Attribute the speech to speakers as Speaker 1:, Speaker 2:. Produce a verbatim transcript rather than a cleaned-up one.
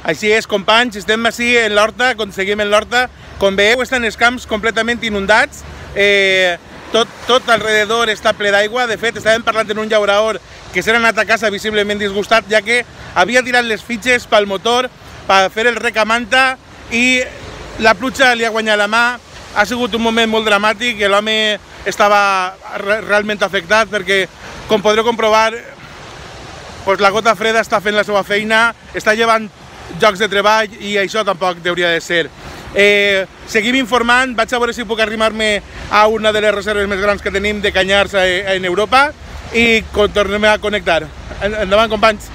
Speaker 1: Així és, companys, estem així en l'horta, seguim en l'horta. Com veieu, estan els camps completament inundats. Eh, tot, tot alrededor està ple d'aigua. De fet, estàvem parlant en un llaurador que s'ha anat a casa visiblement disgustat, ja que havia tirat les fitxes pel motor per fer el rec a manta i la pluja li ha guanyat la mà. Ha sigut un moment molt dramàtic i l'home estava realment afectat perquè, com podreu comprovar, doncs la gota freda està fent la seva feina, està llevant llocs de treball i això tampoc hauria de ser. Eh, seguim informant, vaig a veure si puc arrimar-me a una de les reserves més grans que tenim de canyars en Europa i tornem a connectar. Endavant, companys!